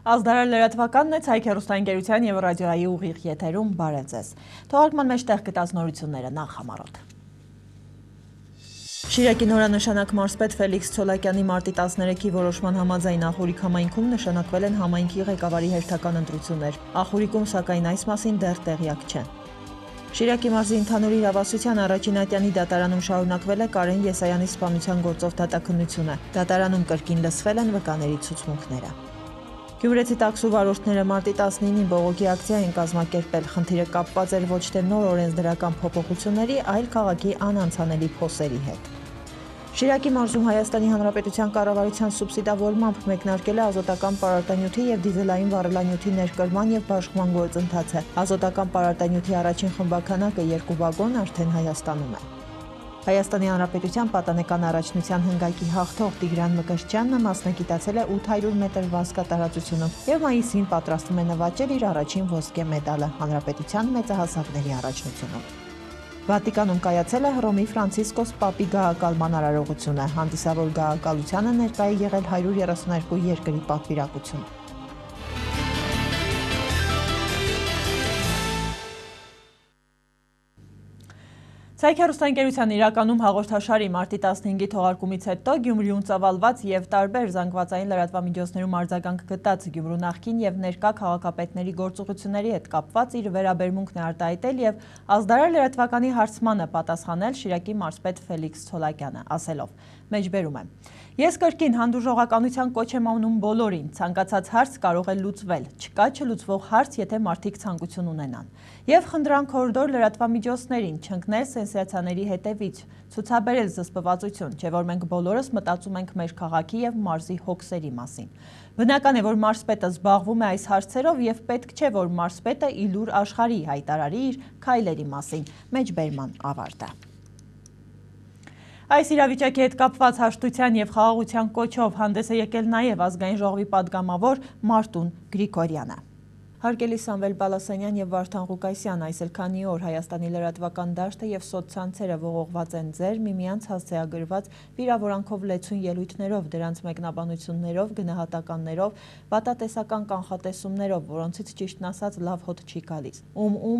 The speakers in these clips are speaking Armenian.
Ազդարար լրատվականն է Ցայք հեռուստաընկերության և ռադիոյի ուղիղ եթերում բարև ձեզ։ Թողարկման մեջ տեղ գտած նորությունները նախ համառոտ։ Շիրակի նորանշանակ մարզպետ Ֆելիքս Ցոլակյանի մարտի 13-ի որոշման համաձայն Ախուրիկ համայնքում նշանակվել են համայնքի ղեկավարի հերթական ընտրություններ։ Ախուրիկում սակայն այս մասին դեռ տեղյակ չեն։ Շիրակի մարզի ընդհանուր իրավասության առաջին ատյանի դատարանում շարունակվել է Կարեն Եսայանի սպանության գործով դատաքննությունը։ Դատարանում կրկին լսվել են վկաների ցուցմունքները։ Գյումրեցի տաքսու վարորդները մարտի 19-ին բողոքի ակցիա են կազմակերպել։ Խնդիրը կապված էր ոչ թե նոր օրենսդրական փոփոխությունների, այլ քաղաքի անանցանելի փոսերի հետ։ Շիրակի մարզում Հայաստանի Հանրապետության կառավարության սուբսիդավորմամբ մեկնարկել է ազոտական պարարտանյութի և դիզելային վառելանյութի ներկրման և բաշխման գործընթացը։ Ազոտական պարարտանյութի առաջին խմբաքանակը 2 վագոն արդեն Հայաստանում է։ Հայաստանի Հանրապետության պատանեկան առաջնության հնգակի հաղթող Տիգրան Մկրտչյանը մասնագիտացել է 800 մետր վազքա տարածությունում և մայիսին պատրաստվում է նվաճել իր առաջին ոսկե մեդալը հանրապետության մեծահասակների առաջնությունում։ Վատիկանում կայացել է Հռոմի Ֆրանցիսկոս Պապի գահակալման արարողությունը։ Հանդիսավոր գահակալությանը ներկա է եղել 132 երկրի պատվիրակություն։ Ցայք հեռուստաընկերության իրականում հաղորդաշարի մարտի 15-ի թողարկումից հետո Գյումրիում ծավալված և տարբեր զանգվածային լրատվամիջոցներում արձագանք գտած Գյումրու նախկին և ներկա քաղաքապետների գործողությունների հետ կապված իր վերաբերմունքն է արտահայտել և ազդարար լրատվականի հարցմանը պատասխանել Շիրակի մարզպետ Ֆելիքս Ցոլակյանը, ասելով. Մեջբերում եմ. Ես կրկին հանդուրժողականության կոչ եմ անում բոլորին, ցանկացած հարց կարող է լուծվել, չկա չլուծվող հարց, եթե մարդիկ ցանկություն ունենան։ Եվ խնդրանք հորդոր լրատվամիջոցներին չընկնել սենսացիաների հետևից, ցուցաբերել զսպվածություն, չէ որ մենք բոլորս մտածում ենք մեր քաղաքի և մարզի հոգսերի մասին։ Բնական է, որ մարզպետը զբաղվում է այս հարցերով և պետք չէ, որ մարզպետը ի լուր աշխարհի հայտարարի իր քայլերի մասին։ Մեջբերման ավարտը։ Այս իրավիճակի հետ կապված հաշտության և խաղաղության կոչով հանդես է եկել նաև ազգային ժողովի պատգամավոր Մարտուն Գրիգորյանը։ Հարգելի Սամվել Բալասանյան և Վարդան Ղուկասյան, այս էլ քանի օր Հայաստանի լրատվական դաշտը և սոցցանցերը ողողված են ձեր միմյանց հասցեագրված վիրավորանքով լեցուն ելույթներով, դրանց մեկնաբանություններով, գնահատականներով, վատատեսական կանխատեսումներով, որոնցից ճիշտն ասած լավ հոտ չի գալիս։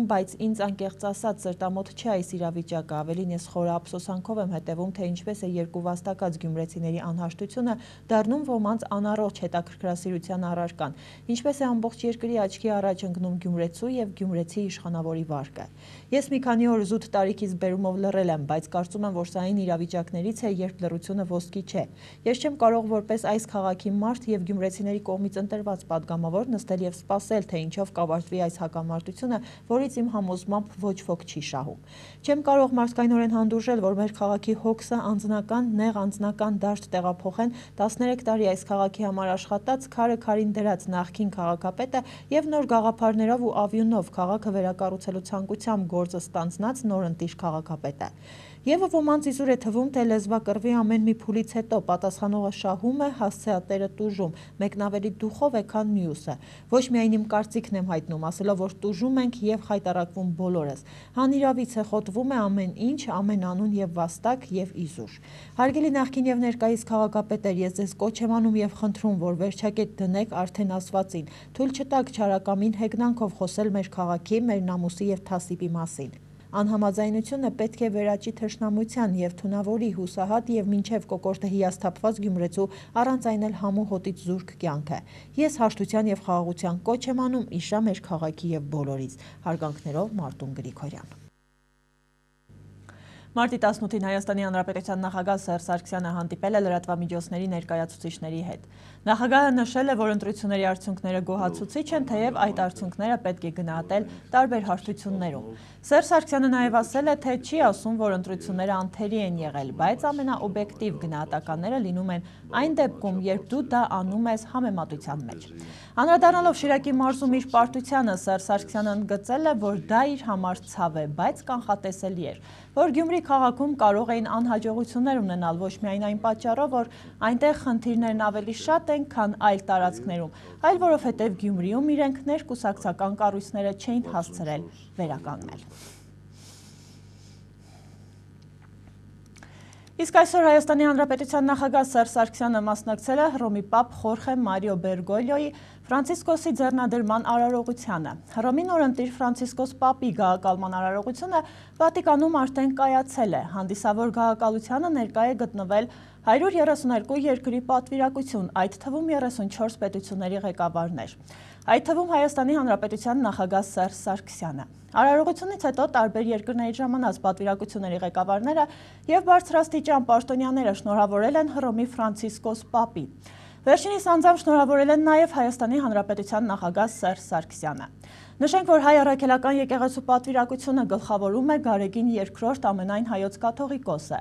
Բայց ինձ անկեղծ ասած սրտամոտ չէ այս իրավիճակը, ավելին ես խորը ափսոսանքով եմ հետևում, թե ինչպես է երկու վաստակած գյումրեցիների անհաշտությունը դառնում ոմանց անառողջ հետաքրքրասիրության առարկան, ինչպես է ամբողջ երկրի աչքի առաջ ընկնում գյումրեցու և գյումրեցի իշխանավորի վարկը։ Ես մի քանի օր զուտ տարիքից բերումով լռել եմ, բայց կարծում եմ, որ սա այն իրավիճակներից է, երբ լռությունը ոսկի չէ։ Ես չեմ կարող որպես այս քաղաքի մարդ և գյումրեցիների կողմից ընտրված պատգամավոր նստել և սպասել, թե ինչով կավարտվի այս հակամարտությունը, որից իմ համոզմամբ ոչ ոք չի շահում։ Չեմ կարող մարդկայնորեն հանդուրժել, որ մեր քաղաքի հոգսը անձնական, նեղ անձնական դաշտ տեղափոխեն 13 տարի այս քաղաքի համար աշխատած, քարը քարին դրած նախկին քաղաքապետը և նոր գաղափարներով ու ավյունով քաղաքը վերակառուցելու ցանկությամբ գործը ստանձնած նորընտիր քաղաքապետը։ Եվ ոմանց իզուր է թվում, թե լեզվակռվի ամեն մի փուլից հետո պատասխանողը շահում է, հասցեատերը տուժում, մեկն ավելի դուխով է, քան մյուսը։ Ոչ միայն իմ կարծիքն եմ հայտնում, ասելով, որ տուժում ենք և խայտառակվում բոլորս։ Հանիրավից է խոտվում է ամեն ինչ, ամեն անուն և վաստակ և իզուր։ Հարգելի նախկին և ներկայիս քաղաքապետեր, ես ձեզ կոչ եմ անում և խնդրում, որ վերջակետ դնեք արդեն ասվածին, թույլ չտաք չարակամին հեգնանքով խոսել մեր քաղաքի, մեր նամուսի և թասիբի մասին։ Անհամաձայնությունը պետք է վերաճի թշնամության և թունավորի հուսահատ և մինչև կոկորդը հիասթափված գյումրեցու առանց այն էլ համու հոտից զուրկ կյանքը։ Ես հաշտության և խաղաղության կոչ եմ անում իշա մեր քաղաքի և բոլորիս։ Հարգանքներով Մարտուն Գրիգորյան։ Մարտի 18-ին Հայաստանի Հանրապետության նախագահ Սերժ Սարգսյանը հանդիպել է լրատվամիջոցների ներկայացուցիչների հետ։ Նախագահը նշել է, որ ընտրությունների արդյունքները գոհացուցիչ են, թեև այդ արդյունքները պետք է գնահատել տարբեր հարթություններում։ Սերժ Սարգսյանը նաև ասել է, թե չի ասում, որ ընտրությունները անթերի են եղել, բայց ամենաօբյեկտիվ գնահատականները լինում են այն դեպքում, երբ դու դա անում ես համեմատության մեջ։ Անդրադառնալով Շիրակի մարզում իր պարտությանը, Սերժ Սարգսյանը ընդգծել է, որ դա իր համար ցավ է, բայց կանխատեսելի էր, որ Գյումրի քաղաքում կարող էին անհաջողություններ ունենալ ոչ միայն այն պատճառով, որ այնտեղ խնդիրներն ավելի շատ են, քան այլ տարածքներում, այլ որովհետև Գյումրիում իրենք ներկուսակցական կառույցները չէին հասցրել վերականգնել։ Իսկ այսօր Հայաստանի Հանրապետության նախագահ Սերժ Սարգսյանը մասնակցել է Հռոմի պապ Խորխե Մարիո Բերգոլիոյի Ֆրանցիսկոսի ձեռնադրման արարողությանը։ Հռոմի նորընտիր Ֆրանցիսկոս պապի գահակալման արարողությունը Վատիկանում արդեն կայացել է։ Հանդիսավոր գահակալությանը ներկա է գտնվել 132 երկրի պատվիրակություն, այդ թվում 34 պետությունների ղեկավարներ, այդ թվում Հայաստանի Հանրապետության նախագահ Սերժ Սարգսյանը։ Արարողությունից հետո տարբեր երկրների ժամանած պատվիրակությունների ղեկավարները և բարձրաստիճան պաշտոնյաները շնորհավորել են Հռոմի Ֆրանցիսկոս պապին։ Վերջինիս անձամբ շնորհավորել են նաև Հայաստանի Հանրապետության նախագահ Սերժ Սարգսյանը։ Նշենք, որ հայ առաքելական եկեղեցու պատվիրակությունը գլխավորում է Գարեգին II ամենայն հայոց կաթողիկոսը։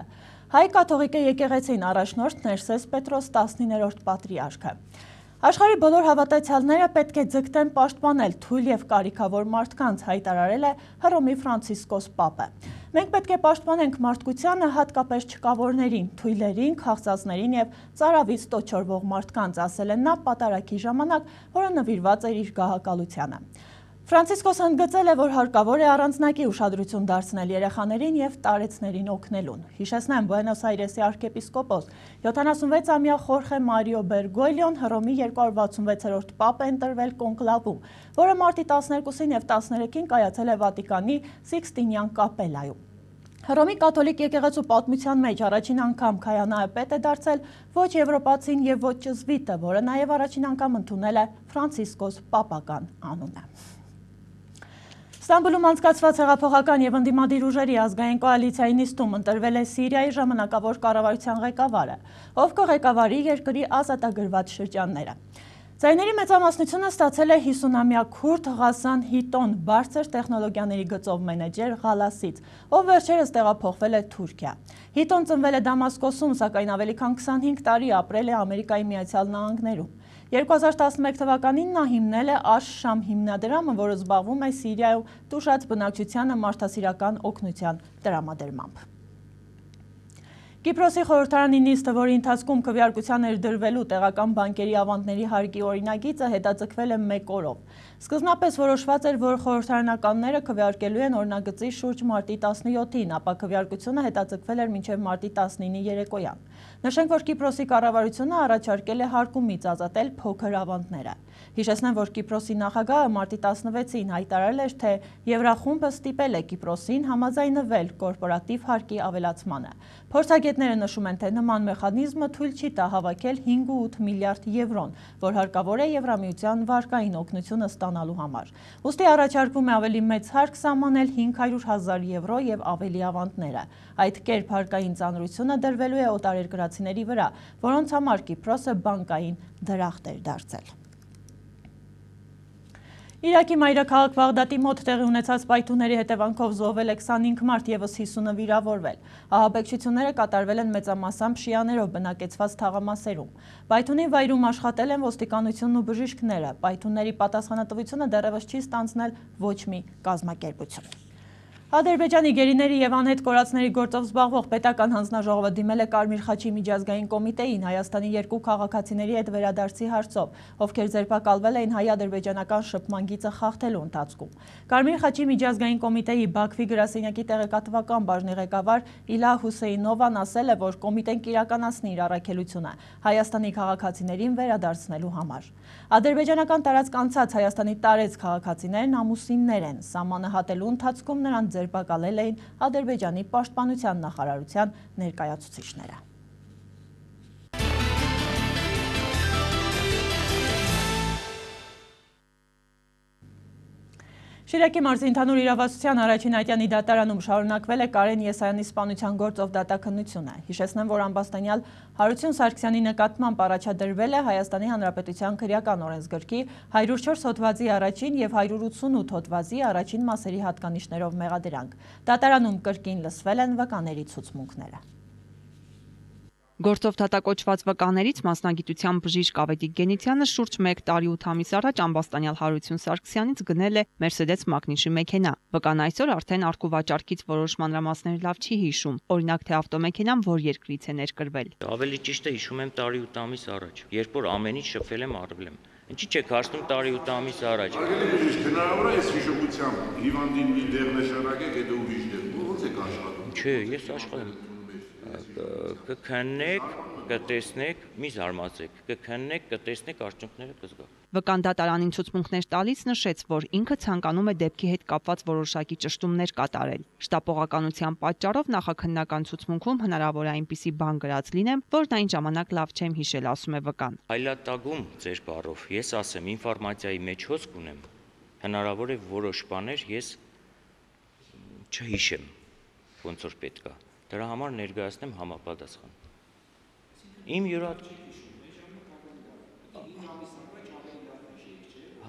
Հայ կաթողիկե եկեղեցին առաջնորդ Ներսես Պետրոս 19-րդ պատրիարքը։ Աշխարհի բոլոր հավատացյալները պետք է ձգտեն պաշտպանել թույլ և կարիքավոր մարդկանց, հայտարարել է Հռոմի Ֆրանցիսկոս պապը։ Մենք պետք է պաշտպանենք մարդկությանը, հատկապես չկավորներին, թույլերին, քաղցածներին և ծարավից տոչորվող մարդկանց, ասել է նա պատարագի ժամանակ, որը նվիրված էր իր գահակալությանը։ Ֆրանցիսկոսը ընդգծել է, որ հարկավոր է առանձնակի ուշադրություն դարձնել երեխաներին և տարեցներին օգնելուն։ Հիշեցնեմ, Բուենոս Այրեսի արքեպիսկոպոս 76-ամյա Խորխե Մարիո Բերգոլիոն Հռոմի 266-րդ պապ է ընտրվել կոնկլավում, որը մարտի 12-ին և 13-ին կայացել է Վատիկանի Սիկստինյան կապելայում։ Հռոմի կաթոլիկ եկեղեցու պատմության մեջ առաջին անգամ քահանայապետ է դարձել ոչ եվրոպացին և ոչ ճզվիտը, որը նաև առաջին անգամ ընդունել է Ֆրանցիսկոս պապական անունը։ Ստամբուլում անցկացված հեղափոխական և ընդդիմադիր ուժերի ազգային կոալիցիայի նիստում ընտրվել է Սիրիայի ժամանակավոր կառավարության ղեկավարը, ով կղեկավարի երկրի ազատագրված շրջանները։ Ձայների մեծամասնությունը ստացել է 50-ամյա քուրդ Ղասան Հիտոն, բարձր տեխնոլոգիաների գծով մենեջեր Ղալասից, ով վերջերս տեղափոխվել է Թուրքիա։ Հիտոն ծնվել է Դամասկոսում, սակայն ավելի քան 25 տարի ապրել է Ամերիկայի Միացյալ Նահանգներում։ 2011 թվականին նա հիմնել է Աշ-Շամ հիմնադրամը, որը զբաղվում է Սիրիայում տուժած բնակչությանը մարդասիրական օգնության տրամադրմամբ։ Կիպրոսի խորհրդարանի նիստը, որի ընթացքում քվեարկության էր դրվելու տեղական բանկերի ավանդների հարկի օրինագիծը, հետաձգվել է 1 օրով։ Սկզբնապես որոշված էր, որ խորհրդարանականները քվեարկելու են օրինագծի շուրջ մարտի 17-ին, ապա քվեարկությունը հետաձգվել էր մինչև մարտի 19-ի երեկոյան։ Նշենք, որ Կիպրոսի կառավարությունը առաջարկել է հարկումից ազատել փոքր ավանդները։ Հիշեցնեմ, որ Կիպրոսի նախագահը մարտի 16-ին հայտարարել էր, թե Եվրախումբը ստիպել է Կիպրոսին համաձայնվել կորպորատիվ հարկի ավելացմանը։ Փորձագետները նշում են, թե նման մեխանիզմը թույլ չի տա հավաքել 5.8 միլիարդ եվրոն, որ հարկավոր է Եվրամիության վարկային օգնությունը ստանալու համար։ Ուստի առաջարկվում է ավելի մեծ հարկ սահմանել 500.000 եվրո և ավելի ավանդները։ Այդ կերպ հարկային ծանրությունը դրվելու է օտարերկրացիների վրա, որոնց համար Կիպրոսը բանկային դրախտ էր դարձել։ Իրաքի մայրաքաղաք Բաղդադի մոտ տեղի ունեցած պայթունների հետևանքով զոհվել է 25 մարդ, ևս 50-ը վիրավորվել։ Ահաբեկչությունները կատարվել են մեծամասամբ շիաներով բնակեցված թաղամասերում։ Պայթունի վայրում աշխատել են ոստիկանությունն ու բժիշկները։ Պայթունների պատասխանատվությունը դեռևս չի ստանձնել ոչ մի կազմակերպություն։ Ադրբեջանի գերիների և անհետ կորածների գործով զբաղվող պետական հանձնաժողովը դիմել է Կարմիր խաչի միջազգային կոմիտեին Հայաստանի 2 քաղաքացիների հետ վերադարձի հարցով, ովքեր ձերբակալվել էին հայ-ադրբեջանական շփման գիծը խախտելու ընթացքում։ Կարմիր խաչի միջազգային կոմիտեի Բաքվի գրասենյակի տեղեկատվական բաժնի ղեկավար Իլա Հուսեյնովան ասել է, որ կոմիտեն կիրականացնի իր առաքելությունը Հայաստանի քաղաքացիներին վերադարձնելու համար։ Ադրբեջանական տարածք անցած Հայաստանի տարեց քաղաքացիներն ամուսիններ են, սահմանը հատելու ընթացքում նրանց ձերբակալել էին Ադրբեջանի պաշտպանության նախարարության ներկայացուցիչները։ Շիրակի մարզի ընդհանուր իրավասության առաջին ատյանի դատարանում շարունակվել է Կարեն Եսայանի սպանության գործով դատաքննությունը։ Հիշեցնեմ, որ ամբաստանյալ Հարություն Սարգսյանի նկատմամբ առաջադրվել է Հայաստանի Հանրապետության քրեական օրենսգրքի 104 հոդվածի առաջին և 188 հոդվածի առաջին մասերի հատկանիշներով մեղադրանք։ Դատարանում կրկին լսվել են վկաների ցուցմունքները։ Գործով դատակոչված վկաներից մասնագիտությամբ բժիշկ Ավետիք Գենիցյանը շուրջ 1 տարի 8 ամիս առաջ ամբաստանյալ Հարություն Սարգսյանից գնել է Mercedes Magnus-ի մեքենա։ Վկան այսօր արդեն արկուվաճառքից որոշ մանրամասներ լավ չի հիշում, օրինակ թե ավտոմեքենան որ երկրից է ներկրվել։ Ավելի ճիշտ է հիշում եմ տարի 8 ամիս առաջ, երբ որ ամեն ինչ շփվել եմ արվել եմ։ Ինչի՞ չեք հարցնում տարի 8 ամիս առաջ։ Հնարավոր է այս հիշողությամբ հիվանդին մի դեղ նշանակեք, հետո ուրիշ դեղ։ Ո՞նց եք աշխատում։ Չէ, ես աշխատում կքննեք, կտեսնեք, մի զարմացեք, կքննեք, կտեսնեք, արդյունքները կզգաք։ Վկան դատարանին ցուցմունքներ տալիս նշեց, որ ինքը ցանկանում է դեպքի հետ կապված որոշակի ճշտումներ կատարել։ Շտապողականության պատճառով նախաքննական ցուցմունքում հնարավոր է այնպիսի բան գրած լինեմ, որն այն ժամանակ լավ չեմ հիշել, ասում է վկան։ Հայլատագում ձեր բառով ես ասեմ ինֆորմացիայի մեջ հոսք ունեմ, հնարավոր է որոշ բաներ ես չհիշեմ, ոնց որ պետք է։ Դրա համար ներկայացնեմ համապատասխան։ Իմ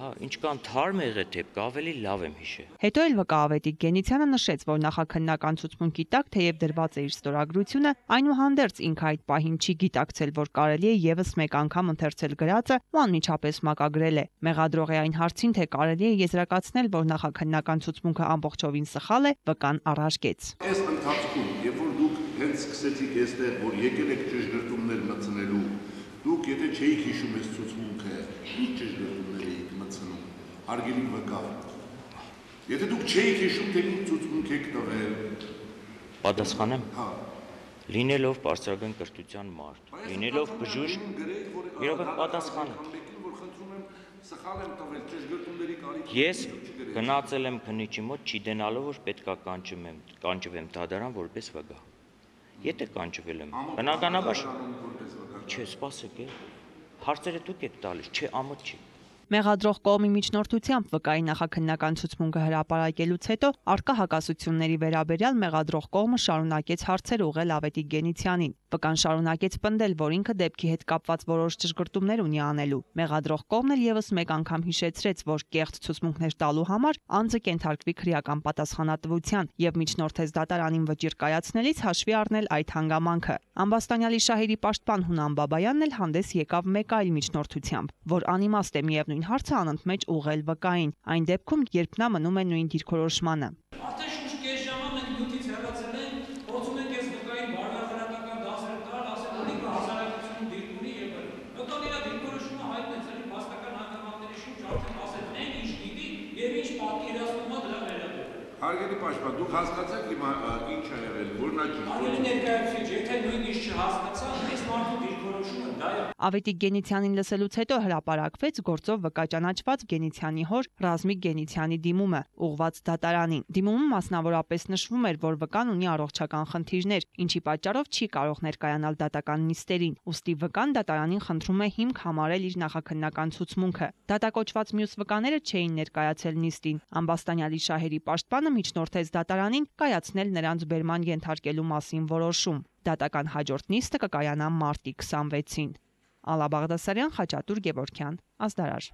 ինչքան թարմ եղե դեպք, ավելի լավ եմ հիշել։ Հետո էլ վկա Ավետիք Գենիցյանը նշեց, որ նախաքննական ցուցմունքի տակ թեև դրված է իր ստորագրությունը, այնուհանդերձ ինքը այդ պահին չի գիտակցել, որ կարելի է եւս մեկ անգամ ընթերցել գրածը ու անմիջապես մակագրել է։ Մեղադրողի այն հարցին, թե կարելի է եզրակացնել, որ նախաքննական ցուցմունքը ամբողջովին սխալ է, վկան առարկեց։ Այս ընթացքում, երբ որ դուք հենց սկսեցիք այստեղ, որ եկել եք ճշգրտումներ մտցնելու, դուք եթե չէիք հիշում այս ցուցմունքը, ինչ ճշգրտումներ էիք մտցնում, հարգելի վկա։ Եթե դուք չէիք հիշում, թե ինչ ցուցմունք եք տվել, պատասխանեմ։ Լինելով բարձրագույն կրթության մարդ, լինելով բժիշկ, իրոք պատասխանը։ Ես գնացել եմ քննիչի մոտ, չիդենալով, որ պետքա կանչվեմ դատարան որպես վկա։ Եթե կանչվել եմ, բնականաբար չէ, սպասեք, հարցերը դուք եք տալիս, չէ, ամոթ չի։ Մեղադրող կողմի միջնորդությամբ վկայի նախաքննական ցուցմունքը հրապարակելուց հետո արկա հակասությունների վերաբերյալ մեղադրող կողմը շարունակեց հարցեր ուղղել Ավետիք Գենիցյանին։ Վկան շարունակեց պնդել, որ ինքը դեպքի հետ կապված որոշ ճշգրտումներ ունի անելու։ Մեղադրող կողմն էլ եւս մեկ անգամ հիշեցրեց, որ կեղծ ցուցմունքներ տալու համար անձը կենթարկվի քրեական պատասխանատվության եւ միջնորդեց դատարանին վճիռ կայացնելիս հաշվի առնել այդ հանգամանքը։ Ամբաստանյալի շահերի պաշտպան Հունան Բաբայանն էլ հանդես եկավ մեկ այլ միջնորդությամբ, որ անիմաստ է միևնույն հարցը անընդմեջ ուղղել վկային, այն դեպքում, երբ նա մնում է նույն դիրքորոշմանը։ Արդեն շուրջ կես ժամ մենք նյութից հեռացել ենք, փորձում ենք այս վկային բարոյական դասեր տալ, ասել որ ինքը հասարակությունում դիրք ունի եւ վկան իր դիրքորոշումը հայտնեց, էլի փաստական հանգամանքների շուրջ արդեն ասել են ինչ գիտի եւ ինչ պատկերացնում է դրա վերաբերյալ։ Հարգելի պաշտպան, դուք հասկացաք հիմա ինչ ա եղել, որն է ճիշտ։ Արյունի ներկայացուցիչ, եթե նույնիսկ չհասկացան, այս մարդու դիրքորոշումը դա է։ Ավետիք Գենիցյանին լսելուց հետո հրապարակվեց գործով վկա ճանաչված Գենիցյանի հոր Ռազմիկ Գենիցյանի դիմումը, ուղղված դատարանին։ Դիմումում մասնավորապես նշվում էր, որ վկան ունի առողջական խնդիրներ, ինչի պատճառով չի կարող ներկայանալ դատական նիստերին։ Ուստի վկան դատարանին խնդրում է հիմք համարել իր նախաքննական ցուցմունքը։ Դատակոչված մյուս վկաները չէին ներկայացել նիստին։ Ամբաստանյալի շահերի պաշտպանը միջնորդեց դատարանին կայացնել նրանց բերման ենթարկելու մասին որոշում։ Դատական հաջորդ նիստը կկայանա մարտի 26-ին։ Ալա Բաղդասարյան, Խաչատուր Գևորգյան, Ազդարար։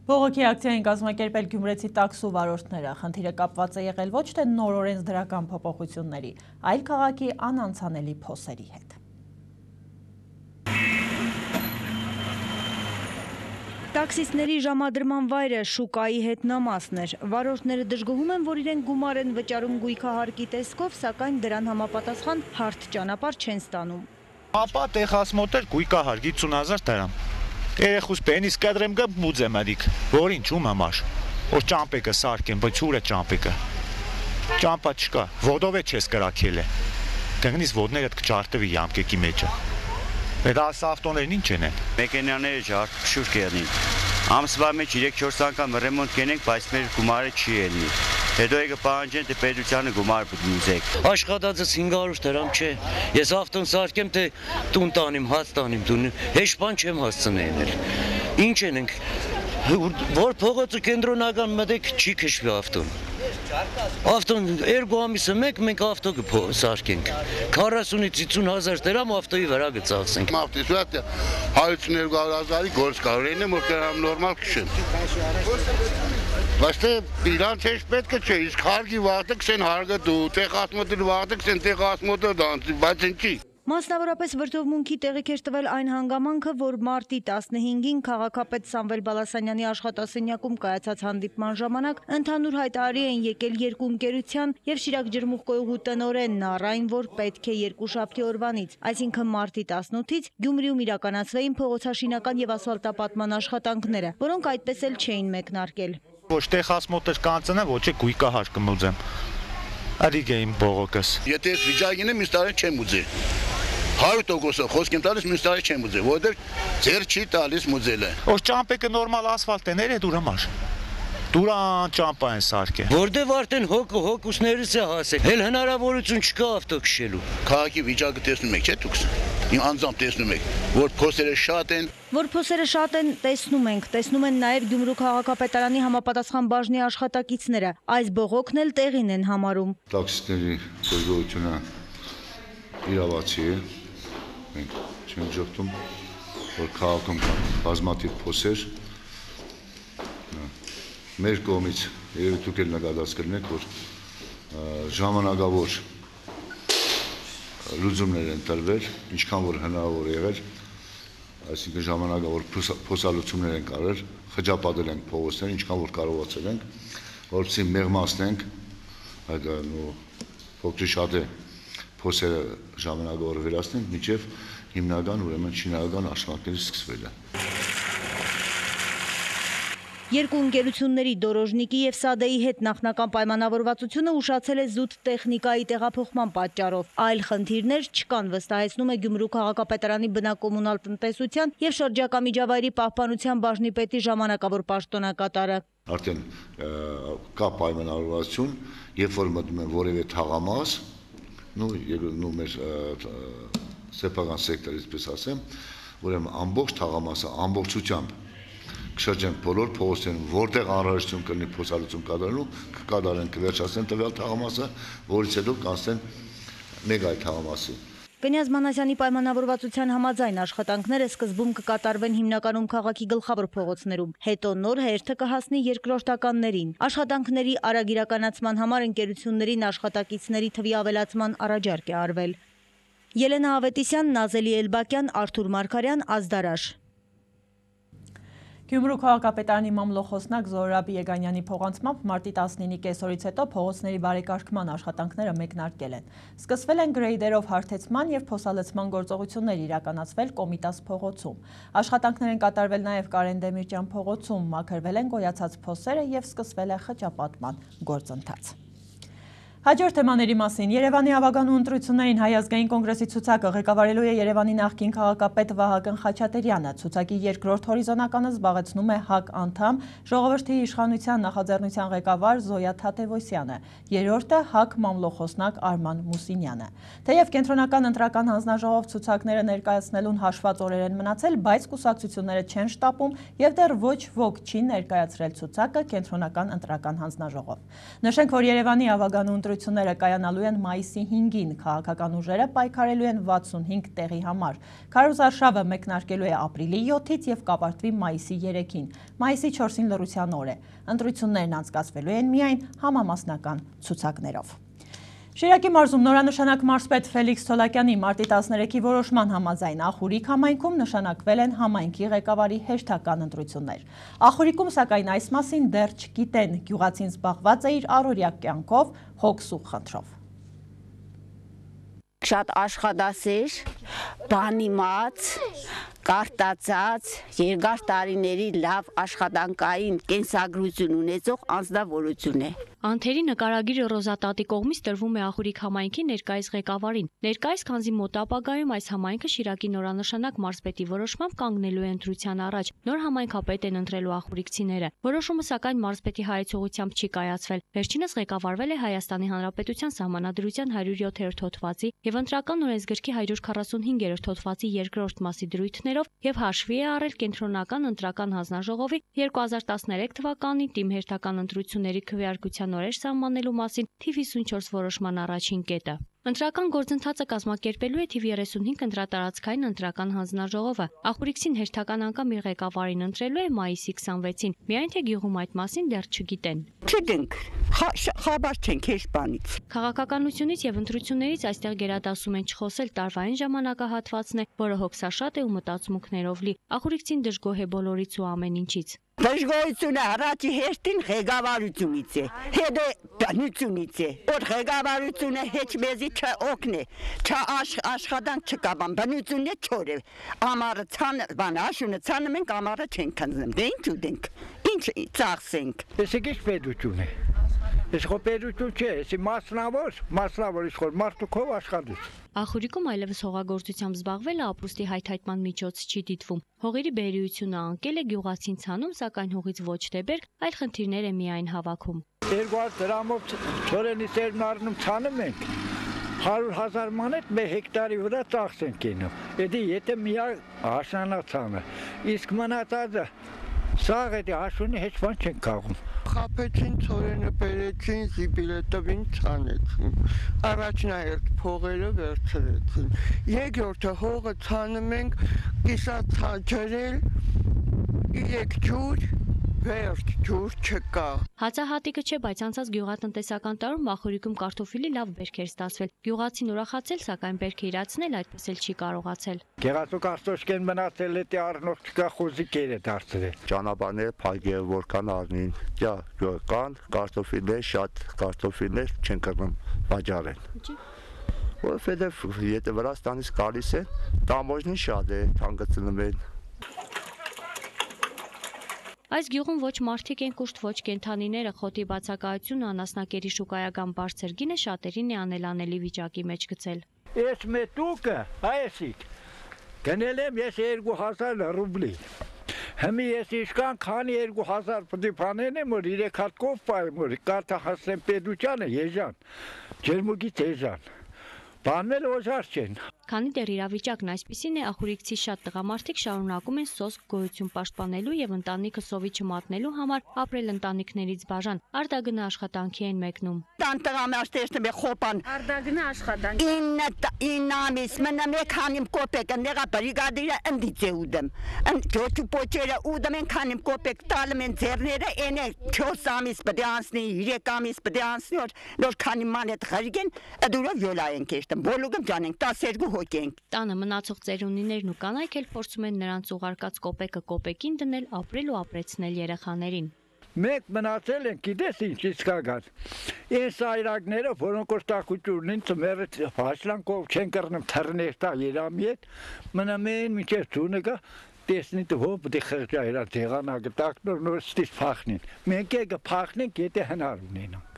Բողոքի ակցիային կազմակերպել գյումրեցի տաքսու վարորդները։ Խնդիրը կապված է եղել ոչ թե նոր օրենսդրական փոփոխությունների, այլ քաղաքի անանցանելի փոսերի հետ։ Տաքսիստների ժամադրման վայրը շուկայի հետնամասն էր։ Վարորդները դժգոհում են, որ իրենք գումար են վճարում գույքահարկի տեսքով, սակայն դրան համապատասխան հարթ ճանապարհ չեն ստանում։ Ապա տեղասմոտեր գույքահար 50,000 դրամ։ Երեխուս պենիս կադրեմ գա բուձեմ ադիք, որ ինչ ում համար։ Որ ճամպեկը սարքեմ, բայց ուր է ճամպեկը։ Ճամպա չկա, ոտով է չես կրակել է։ Դեղնից ոտներդ կճարտվի յամկեկի մեջը։ Այդ ավտոներն ինչ են։ Մեքենաները ջարդուշուր կերնին։ Ամսվա մեջ 3-4 անգամ ռեմոնտ կենենք, բայց մեր գումարը չի ելնի։ Հետո եկը պահանջեն, թե պետությանը գումար բուզեք։ Աշխատածս 500 դրամ չէ։ Ես ավտոն սարքեմ, թե տուն տանիմ, հաց տանիմ, տուն։ Հեշտ բան չեմ հասցնել։ Ինչ ենք, որ փողոցը կենտրոնական մտեք չի քշվի ավտոն։ Ավտոն 2 ամիսը մեկ մենք ավտո սարքենք։ 40-ից 50,000 դրամ ավտոյի վրա գծացենք։ Ավտոսուատ 102,000-ի գործ կարողին եմ, որ կրամ նորմալ քշեմ։ Բայց թե իրանց հեշտ պետք չէ, իսկ հարգի վաղտը կսեն հարգը դու, տեղասմոտը վաղտը կսեն տեղասմոտը դանց, բայց ինչի։ Մասնավորապես վրդովմունքի տեղիք էր տվել այն հանգամանքը, որ մարտի 15-ին քաղաքապետ Սամվել Բալասանյանի աշխատասենյակում կայացած հանդիպման ժամանակ ընդհանուր հայտարարի են եկել երկու ընկերության եւ Շիրակ ջրմուղկոյուղու տնօրենն առ այն, որ պետք է երկուշաբթի օրվանից, այսինքն մարտի 18-ից Գյումրիում իրականացվեին փողոցաշինական եւ ասֆալտապատման աշխատանքները, որոնք այդպես էլ չէին մեկնարկել։ Ոչ տեղասմոտեր կանցնեմ, ոչ է գույքահար կմուծեմ։ Ադիգ է իմ բողոքս։ Եթե ես վիճակին եմ, մյուս տարի չեմ ուզի։ 100% խոսք եմ տալիս, մյուս տարի չեմ ուզի, որովհետև ձեր չի տալիս մուծելը։ Որ ճամպեկը նորմալ ասֆալտ է, ներ է դուր համար։ Դուրան ճամպա են սարքե։ Որտեվ արդեն հոգուսներս է հասել։ Հել հնարավորություն չկա ավտո քշելու։ Քաղաքի վիճակը տեսնում եք, չէ՞ դուք։ Իմ անձամբ տեսնում եք, որ փոսերը շատ են։ Որ փոսերը շատ են, տեսնում ենք, տեսնում են նաև Գյումրու քաղաքապետարանի համապատասխան բաժնի աշխատակիցները։ Այս բողոքն էլ տեղին են համարում։ Տաքսիստների գործողությունը իրավացի է։ Մենք չենք ժողտում, որ քաղաքում բազմաթիվ փոսեր մեր կողմից երևի դուք էլ նկատած կլինեք, որ ժամանակավոր լուծումներ են տրվել, ինչքան որ հնարավոր եղել, այսինքն ժամանակավոր փոսալուծումներ են կարել, խճապատել ենք փողոցները, ինչքան որ կարողացել ենք, որպեսզի մեղմացնենք այդ փոքրի շատ է փոսերը ժամանակավոր վերացնենք, մինչև հիմնական ուրեմն շինարարական աշխատանքների սկսվելը։ Երկու ընկերությունների Դորոժնիկի եւ Սադեի հետ նախնական պայմանավորվածությունը ուշացել է զուտ տեխնիկայի տեղափոխման պատճառով։ Այլ խնդիրներ չկան, վստահեցնում է Գյումրու քաղաքապետարանի բնակոմունալ տնտեսության եւ շրջակա միջավայրի պահպանության բաժնի պետի ժամանակավոր պաշտոնակատարը։ Արդեն կա պայմանավորվածություն, երբ որ մտնում են որևէ թաղամաս, մեր սեփական սեկտորից պես ասեմ, ուրեմն ամբողջ թաղամասը ամբողջությամբ կշրջենք բոլոր փողոցներում, որտեղ անհրաժեշտություն կլինի փոսալուծում կատարելու, կկատարեն, կվերջացնեն տվյալ թաղամասը, որից հետո կանցնեն մեկ այլ թաղամասի։ Կնյազ Մանասյանի պայմանավորվածության համաձայն աշխատանքները սկզբում կկատարվեն հիմնականում քաղաքի գլխավոր փողոցներում, հետո նոր հերթը կհասնի երկրորդականներին։ Աշխատանքների արագ իրականացման համար ընկերություններին աշխատակիցների թվի ավելացման առաջարկ է արվել։ Ելենա Ավետիսյան, Նազելի Էլբակյան, Արթուր Մարգարյան, Ազդարաշ։ Գյումրու քաղաքապետարանի մամլոխոսնակ Զորաբի Եգանյանի փոխանցմամբ մարտի 19-ի կեսօրից հետո փողոցների բարեկարգման աշխատանքները մեկնարկել են։ Սկսվել են գրեյդերով հարթեցման եւ փոսալցման գործողություններ իրականացվել Կոմիտաս փողոցում։ Աշխատանքներ են կատարվել նաեւ Կարեն Դեմիրճյան փողոցում, մաքրվել են գոյացած փոսերը եւ սկսվել է խճապատման գործընթաց։ Հաջորդ թեմաների մասին Երևանի ավագանու ընտրություններին Հայ ազգային կոնգրեսի ցուցակը ղեկավարելու է Երևանի նախկին քաղաքապետ Վահագն Խաչատրյանը։ Ցուցակի երկրորդ հորիզոնականը զբաղեցնում է ՀԱԿ անդամ Ժողովրդի իշխանության նախաձեռնության ղեկավար Զոյա Թաթևոսյանը, երրորդը ՀԱԿ մամլոխոսնակ Արման Մուսինյանը։ Թեև կենտրոնական ընտրական հանձնաժողով ցուցակները ներկայացնելուն հաշված օրեր են մնացել, բայց կուսակցությունները չեն շտապում եւ դեռ ոչ ոք չի ներկայացրել ցուցակը կենտրոնական ընտրական հանձնաժողով։ Նշենք, որ Երևանի ավագանու ընտրությունները կայանալու են մայիսի 5-ին, քաղաքական ուժերը պայքարելու են 65 տեղի համար։ Քարոզարշավը մեկնարկելու է ապրիլի 7-ից եւ կապարտվի մայիսի 3-ին։ Մայիսի 4-ին լռության օր է։ Ընտրություններն անցկացվելու են միայն համամասնական ցուցակներով։ Շիրակի մարզում նորանշանակ մարզպետ Ֆելիքս Թոլակյանի մարտի 13-ի որոշման համաձայն Ախուրիկ համայնքում նշանակվել են համայնքի ղեկավարի հերթական ընտրություններ։ Ախուրիկում սակայն այս մասին դեռ չգիտեն, գյուղացին զբաղված է իր առօրյա կյանքով, հոգս ու խնդրով։ Շատ աշխատասեր, բանիմաց, կարտացած, երկար տարիների լավ աշխատանքային կենսագրություն ունեցող անձնավորություն է։ Անթերի նկարագիրը Ռոզատատի կողմից տրվում է Ախուրիկ համայնքի ներկայիս ղեկավարին։ Ներկայիս քանզի մոտ ապագայում այս համայնքը Շիրակի նորանշանակ մարզպետի որոշմամբ կանգնելու է ընտրության առաջ։ Նոր համայնքապետ են ընտրելու ախուրիկցիները։ Որոշումը սակայն մարզպետի հայեցողությամբ չի կայացվել։ Վերջինս ղեկավարվել է Հայաստանի Հանրապետության Սահմանադրության 107-րդ հոդվածի եւ ընտրական օրենսգրքի 145-րդ հոդվածի երկրորդ մասի դրույթներով եւ հաշվի է առել կենտրոնական ընտրական հանձնաժողովի 2013 թվականի թիմ հերթական ընտրությունների քվեարկության նորեր սահմանելու մասին թիվ 54 որոշման առաջին կետը։ Ընտրական գործընթացը կազմակերպելու է թիվ 35 ընտրատարածքային ընտրական հանձնաժողովը։ Ախուրիկցին հերթական անգամ իր ղեկավարին ընտրելու է մայիսի 26-ին, միայն թե գյուղում այդ մասին դեռ չգիտեն։ Չգիտենք, խաբար չենք հեշտ բանից։ Քաղաքականությունից եւ ընտրություններից այստեղ գերադասում են չխոսել տարվային ժամանակահատվածն է, որը հոգսաշատ է ու մտածմունքներով լի։ Ախուրիկցին դժգոհ է բոլորից ու ամեն ինչից։ Դժգոհությունը առաջի հերթին ղեկավարությունից է, հետո բնությունից է, որ ղեկավարությունը հեչ մեզի չօգնի, աշխատանք չկա, բնությունն է չոր է, ամառը ցանը, աշունը ցանը մենք ամառը չենք քննում, դե ինչ ուտենք, ինչ ծախսենք։ Տեսեք ինչ պետություն է, Իշխոպերություն չէ, էսի մասնավոր իշխոր մարդուքով աշխատուց։ Ախուրիկում այլևս հողագործությամբ զբաղվելը ապրուստի հայթայթման միջոց չի դիտվում։ Հողերի բերրիությունը անկել է գյուղացին ցանում, սակայն հողից ոչ թե բերք, այլ խնդիրներ է միայն հավաքում։ 200 դրամով ծորենի սերմն առնում ցանում ենք։ 100,000 մանետ մեր հեկտարի վրա ծախս ենք գնում։ Եթե միակ հաշնանացանը, իսկ մնացածը սաղ էդի հաշունի հեչ բան չենք քաղում։ Խապեցին ծորենը բերեցին, զիբիլը տվին, ցանեցին։ Առաջնահերթ փողերը վերցրեցին։ Երկրորդը հողը ցանում ենք, կիսացա ջրել, 3 ջուր, վերջ ջուր չկա։ Հացահատիկը չէ, բայց անցած գյուղատնտեսական տարում Ախուրիկում կարտոֆիլի լավ բերք էր ստացվել։ Գյուղացին ուրախացել, սակայն բերքը իրացնել այդպես էլ չի կարողացել։ Գեղացու կարտոշկեն մնացել է, առնող չկա, խոզիկեր է դարձրել։ Ճանապարհները փակել, որքան առնին, կան կարտոֆիլներ, շատ կարտոֆիլներ չեն կրնում վաճառել։ Որովհետև եթե Վրաստանից գալիս է, տամոժնի շատ է, հանգեցնում են։ Այս գյուղում ոչ մարդիկ են կուշտ, ոչ կենդանիները, խոտի բացակայությունը, անասնակերի շուկայական բարձր գինը շատերին է անելանելի վիճակի մեջ գցել։ Ես մետուկը, այսիկ, գնել եմ ես 2000 ռուբլի։ Հիմի ես իշքան քանի 2000 պտի փանեն եմ, որ 3 հատ կով պայեմ, որ կարթա հասնեմ պետությանը, եժան, ջերմուգից եժան, բանվել օժար չեն։ Քանի դեռ իրավիճակն այսպիսին է, ախուրիկցի շատ տղամարդիկ շարունակում են սոսկ գոյություն պաշտպանելու եւ ընտանիքը սովի չմատնելու համար ապրել ընտանիքներից բաժան, արդագնա աշխատանքի են մեկնում։ Տան տղամարդերն է խոպան։ Արդագնա աշխատանք։ 9 ամիս մնամ եք հանիմ կոպեկը, նեղա բրիգադիրը ընդից է ուդեմ։ Ջոչու պոչերը ուդեմ են հանիմ կոպեկ տալում են ձեռները, ենե 4 ամիս պետք է անցնի, 3 ամիս պետք է անցնի, որ քանի մանետ խրգեն, դուրով յոլա են կեշտում, բոլուգում ջանենք 12 Տանը մնացող ծերունիներն ու կանայք էլ փորձում են նրանց ուղարկած կոպեկը կոպեկին դնել, ապրել ու ապրեցնել երեխաներին։ Մենք մնացել ենք, գիտես ինչ իսկական։ Այս այրակները, որոնք որ տակուճուրն են, ծմերը հաշլանքով չեն կրնում թռներ տա երամի հետ, մնում են մինչև ծունը գա, տեսնի տվով պտի խղճա իրա տեղանագը տակնոր նոր ստիս պախնին։ Մենք է կպախնենք, եթե հնար ունենանք։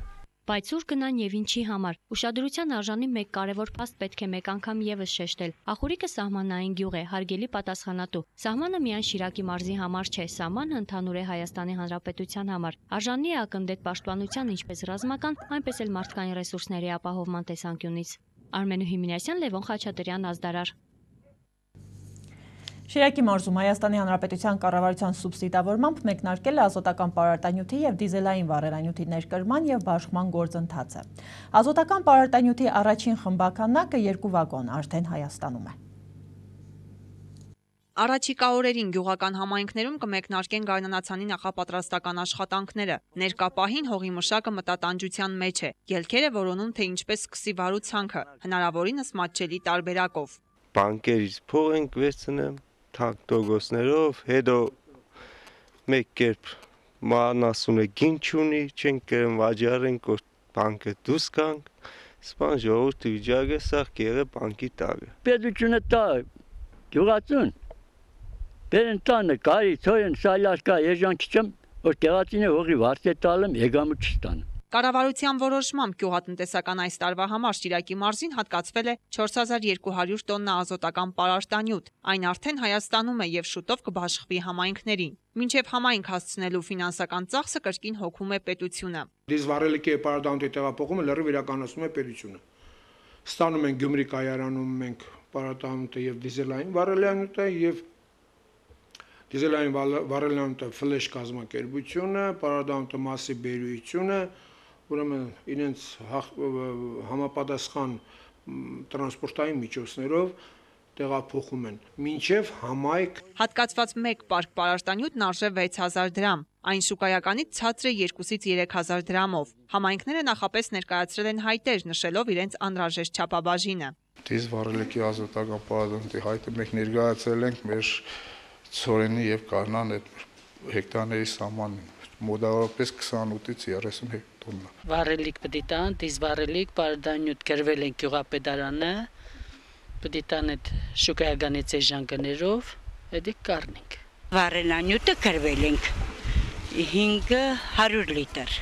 Բայց ուր գնան եւ ինչի համար։ Ուշադրության արժանի մեկ կարևոր փաստ պետք է մեկ անգամ եւս շեշտել։ Ախուրիկը սահմանային գյուղ է, հարգելի պատասխանատու։ Սահմանը միայն Շիրակի մարզի համար չէ, սահմանը ընդհանուր է Հայաստանի Հանրապետության համար։ Արժանի է ակնդետ պաշտպանության ինչպես ռազմական, այնպես էլ մարդկային ռեսուրսների ապահովման տեսանկյունից։ Արմենուհի Մինասյան, Լևոն Խաչատրյան, Ազդարար։ Շիրակի մարզում Հայաստանի Հանրապետության կառավարության սուբսիդավորմամբ մեկնարկել է ազոտական պարարտանյութի և դիզելային վառելանյութի ներկրման և բաշխման գործընթացը։ Ազոտական պարարտանյութի առաջին խմբականակը 2 վագոն արդեն Հայաստանում է։ Առաջիկա օրերին գյուղական համայնքներում կմեկնարկեն գարնանացանի նախապատրաստական աշխատանքները։ Ներկա պահին հողի մշակը մտատանջության մեջ է։ Ելքերը որոնում, թե ինչպես սկսի վարու ցանքը, հնարավորինս մատչելի տարբերակով։ Բանկերից փող ենք վերցնեմ, թանկտոգոսներով, հետո մեկ կերպ ման ասում է գին չունի, չենք կրեմ վաճառենք, որ բանկը դուս կանք, սպան ժողովրդի վիճակը սաղ կեղը բանկի տակը։ Պետությունը տա գյուղացուն, բերեն տանը կարի, ծոյեն սալաշկա եժան չչեմ, որ կեղացին է հողի վարդ է տալեմ, եգամը չստանում։ Կառավարության որոշմամբ գյուղատնտեսական այս տարվա համար Շիրակի մարզին հատկացվել է 4200 տոննա ազոտական պարարտանյութ։ Այն արդեն Հայաստանում է եւ շուտով կբաշխվի համայնքներին։ Մինչև համայնք հասցնելու ֆինանսական ծախսը կրկին հոգում է պետությունը։ Դիզվառելիքի պարարտանյութի տեղափոխումը լրիվ իրականացնում է պետությունը։ Ստանում են Գյումրի կայարանում մենք պարարտանյութը եւ դիզելային վառելանյութը եւ դիզելային վառելանյութը ֆլեշ կազմակերպությունը, պարարտանյութը մասի բերույթությունը, ուրեմն իրենց համապատասխան տրանսպորտային միջոցներով տեղափոխում են մինչև համայնք։ Հատկացված մեկ պարկ պարարտանյութն արժե 6000 դրամ։ Այն շուկայականից ցածր է 2-ից 3000 դրամով։ Համայնքները նախապես ներկայացրել են հայտեր, նշելով իրենց անհրաժեշտ չափաբաժինը։ Դիզվառելիքի ազոտական պարարտանյութի հայտը մենք ներկայացրել ենք մեր ծորենի եւ կանան այդ հեկտարների սահմանին, մոտավորապես 28-ից 30 տոննա։ Վառելիք պետք է տան, դիզվառելիք պարարտանյութ գրվել են գյուղապետարանը, պետք է տան այդ շուկայականից էժաններով, հետո կառնենք։ Վառելանյութը գրվել ենք 500 լիտր,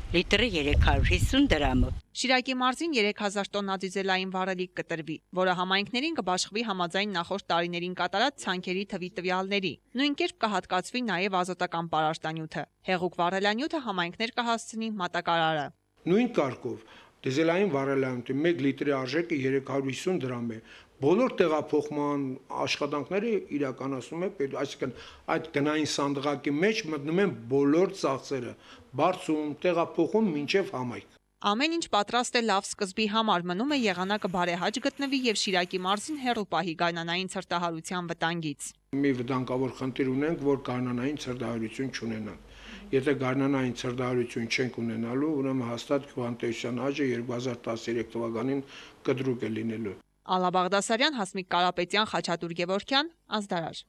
լիտրը 350 դրամը։ Շիրակի մարզին 3000 տոննա դիզելային վառելիք կտրվի, որը համայնքներին կբաշխվի համաձայն նախորդ տարիներին կատարած ցանքերի թվի տվյալների։ Նույն կերպ կհատկացվի նաև ազոտական պարարտանյութը։ Հեղուկ վառելանյութը համայնքներ կհասցնի մատակարարը։ Նույն կարգով դիզելային վառելանյութի 1 լիտրի արժեքը 350 դրամ է։ Բոլոր տեղափոխման աշխատանքները իրականացնում է, այսինքն այդ գնային սանդղակի մեջ մտնում են բոլոր ծախսերը, բարձում, տեղափոխում մինչև համայնք։ Ամեն ինչ պատրաստ է լավ սկզբի համար, մնում է եղանակը բարեհաճ գտնվի եւ Շիրակի մարզին հեռու պահի գարնանային ցրտահարության վտանգից։ Մի վտանգավոր խնդիր ունենք, որ գարնանային ցրտահարություն չունենանք։ Եթե գարնանային ցրտահարություն չենք ունենալու, ուրեմն հաստատ գյուղատնտեսության աճը 2013 թվականին կտրուկ է լինելու։ Ալլա Բաղդասարյան, Հասմիկ Կարապետյան, Խաչատուր Գևորգյան, Ազդարար։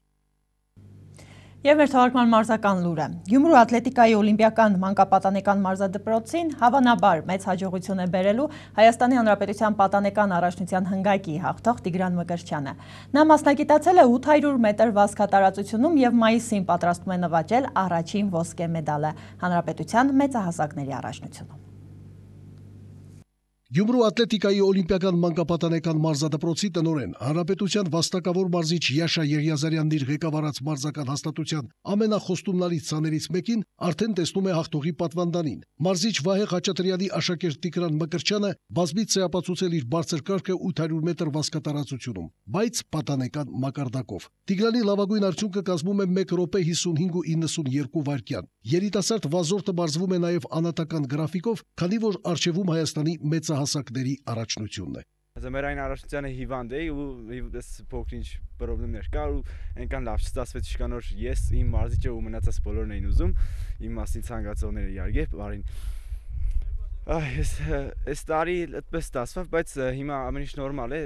Եվ մեր թողարկման մարզական լուրը։ Գյումրու ատլետիկայի օլիմպիական մանկապատանեկան մարզադպրոցին հավանաբար մեծ հաջողություն է բերելու Հայաստանի Հանրապետության պատանեկան առաջնության հնգայքի հաղթող Տիգրան Մկրտչյանը։ Նա մասնագիտացել է 800 մետր վազքատարածությունում եւ մայիսին պատրաստվում է նվաճել առաջին ոսկե մեդալը Հանրապետության մեծահասակների առաջնությունում։ Գյումրու ատլետիկայի օլիմպիական մանկապատանեկան մարզադպրոցի տնօրեն Հանրապետության վաստակավոր մարզիչ Յաշա Եղիազարյանն իր ղեկավարած մարզական հաստատության ամենախոստումնալից ցաներից մեկին արդեն տեսնում է հաղթողի պատվանդանին։ Մարզիչ Վահե Խաչատրյանի աշակերտ Տիգրան Մկրտչյանը բազմից է ապացուցել իր բարձր կարգը 800 մետր վազքատարածությունում, բայց պատանեկան մակարդակով։ Տիգրանի լավագույն արդյունքը կազմում է 1 րոպե 55.92 վայրկյան։ Երիտասարդ վազորդը բարձվում է նաև անատական գրաֆիկով, քանի որ արժևում Հայաստանի մեծահասակների առաջնությունն է։ Ձմեռային առաջնությանը հիվանդ էի ու այս փոքր-ինչ խնդիրներ կար ու այնքան լավ չստացվեց իշկանոր ես իմ մարզիչը ու մնացած բոլորն էին ուզում իմ մասին ցանկացողները իհարկե բարին։ Այս տարի այդպես ստացավ, բայց հիմա ամեն ինչ նորմալ է,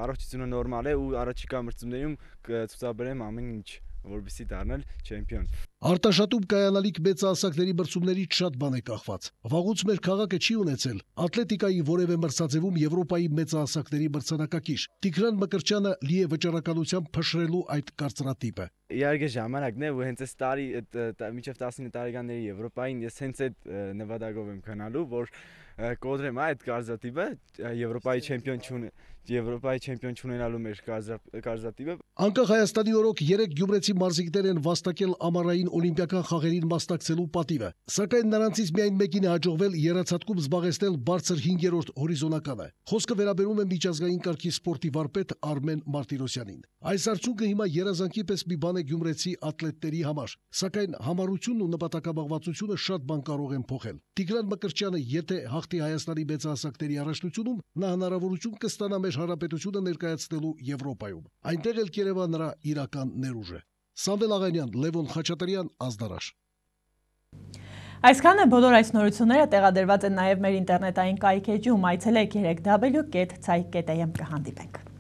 առողջությունը նորմալ է ու առաջիկա մրցումներում կցուցաբերեմ ամեն ինչ, որպեսզի դառնալ չեմպիոն։ Արտաշատում կայանալիք մեծահասակների մրցումներից շատ բան է կախված։ Վաղուց մեր քաղաքը չի ունեցել ատլետիկայի որևէ մրցաձևում Եվրոպայի մեծահասակների մրցանակակիր։ Տիգրան Մկրտչյանը լի է վճռականությամբ փշրելու այդ կարծրատիպը։ Իհարկե ժամանակն է ու հենց այս տարի մինչև 19 տարեկանների Եվրոպային ես հենց այդ նվադագով եմ քնալու, որ կոդրեմ այդ կարծրատիպը Եվրոպայի չեմպիոն չունենալու մեր կարծրատիպը։ Անկախ Հայաստանի օրոք 3 գյումրեցի մարզիկներ են վաստակել ամառային օլիմպիական խաղերին մասնակցելու պատիվը, սակայն նրանցից միայն մեկին է հաջողվել եռացատկում զբաղեցնել բարձր 5-րդ հորիզոնականը։ Խոսքը վերաբերում է միջազգային կարգի սպորտի վարպետ Արմեն Մարտիրոսյանին։ Այս արդյունքը հիմա երազանքի պես մի բան է գյումրեցի ատլետների համար, սակայն համառությունն ու նպատակաբաղվածությունը շատ բան կարող են փոխել։ Տիգրան Մկրտչյանը եթե հաղթի Հայաստանի մեծահասակների առաջնությունում, նա հնարավորություն կստանա մեր հանրապետությունը ներկայացնելու Եվրոպայում։ Այնտեղ էլ կերևա նրա իրական ներուժը։ Սամվել Աղանյան, Լևոն Խաչատրյան, Ազդարար։ Այսքանը բոլոր այս նորությունները տեղադրված են նաև մեր ինտերնետային կայքեջում, այցելեք www.ցայք.am կհանդիպենք։